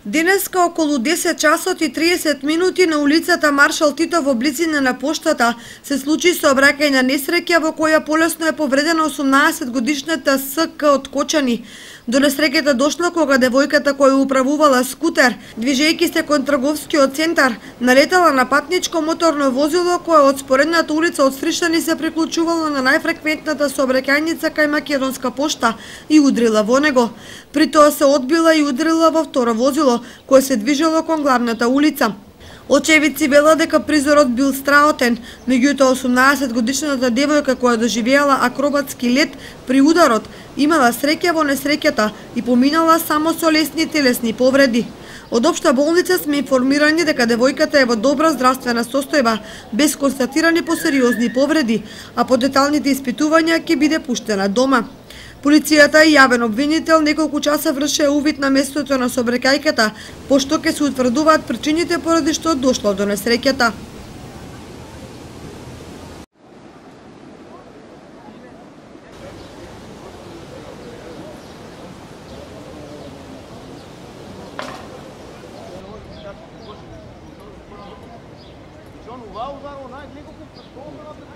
Денеска околу 10 часот и 30 минути на улицата Маршал Тито во близина на поштата се случи сообраќајна несреќа во која полесно е повредена 18-годишната СК од Кочани. До несреќата дошла кога девојката која управувала скутер, движејќи се кон трговскиот центар, налетала на патничко моторно возило кое од споредната улица од Стришани се приклучувало на најфреквентната сообраќајница кај Македонска пошта и удрила во него. При тоа се одбила и удрила во второ возило кое се движело кон главната улица. Очевидци велат дека призорот бил страотен, меѓутоа 18-годишната девојка која доживеала акробатски лет при ударот имала среќа во несреќата и поминала само со лесни телесни повреди. Од општа болница сме информирани дека девојката е во добра здравствена состојба, без констатирани посериозни повреди, а по деталните испитувања ќе биде пуштена дома. Полицијата и јавен обвинител неколку часа вршеа увид на местото на сообраќајката, пошто ќе се утврдуваат причините поради што дошло до несреќата. John, uau, uau, uau,